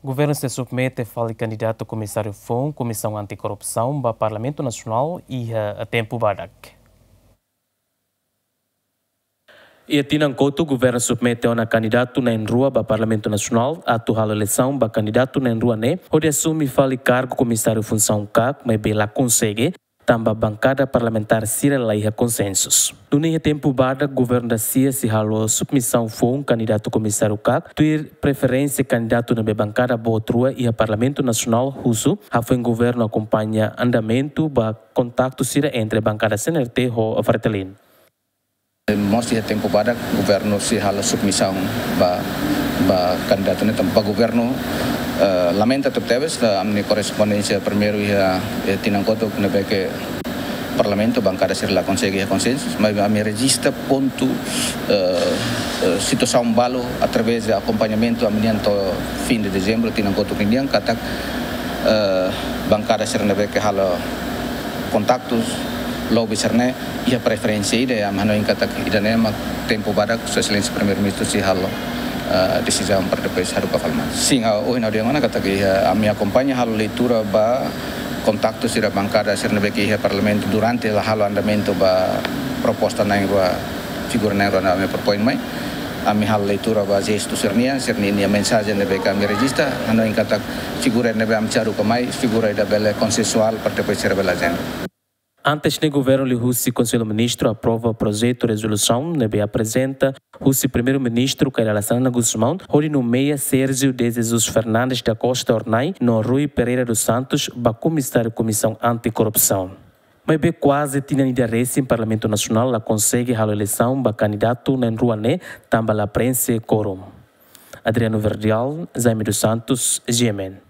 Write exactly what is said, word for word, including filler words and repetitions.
Governu sei submete fali kandidatu komisáriu foun Komisaun Anti-Korrupsaun ba Parlamentu Nasionál iha tempu badak. Iha tinan kotuk, governu submete ona kandidatu na'in-rua ba Parlamentu Nasionál atu halo eleisaun ba kandidatu na'in-rua ne'e hodi asume fali kargu komisáriu funsaun kak, maibé la konsege, tanba bankada parlamentár sira la iha konsensu. Nune'e iha tempu badak, governu da sia sei halo submisaun foun kandidatu komisáriu kak, tuir preferénsia kandidatu ne'ebé bankada boot rua iha Parlamentu Nasionál husu, hafoin governu akompaña andamentu ba kontaktu sira entre bankada C N R T ho Fretilin. Mós iha tempu badak governu sei halo submisaun ba, ba kandidatu ne'e tanba governu, eh, lamenta tebetebes, eh, ami-nia korrespondénsia primeiru iha, eh, tinan kotuk ne'ebé ke Parlamentu, bankada sira la konsege iha konsensu, maibé ami rejista pontu, eh, eh, situasaun balu através de akompañamentu ami-nian to'o fin de dezembru tinan kotuk ninian katak, eh, bankada sira ne'ebé ke halo kontaktus, lobby sira-ne'e iha preferénsia ida, ami hanoin katak ida-ne'e mak tempu badak Sua Exelénsia Primeiru-Ministru sei halo, eh, desizaun para depois haruka fali mai. Sin, ah, ohin ha'u dehan ona katak iha, ami akompaña halo leitura ba kontaktu sira bankada sira ne'ebé ke iha Parlamentu durante la halo andamentu ba proposta na'in-rua, figura na'in-rua ne'ebé ami propoin mai. Ami halo leitura ba jestu sira-nian, sira-nia mensajen ne'ebé ke ami rejista, hanoin katak figura ne'ebé ami sei haruka mai, figura ida bele konsensuál para depois sira bele ajenda. Antes ne'e, governu liuhusi Konsellu Ministru aprova projetu rezolusaun ne'ebé aprezenta husi Primeiru-Ministru Kay Rala Xanana Gusmão hodi nomeia Sérgio de Jesus Fernandes da Costa Hornai no Rui Pereira dos Santos ba Komisáriu Komisaun Anti-Korrupsaun. Maibé kuaze tinan ida resin Parlamentu Nasionál la konsege halo eleisaun ba kandidatu na'in-rua ne'e tanba la preenxe kuorum. Adriano Verdial, Jaime dos Santos, G M N.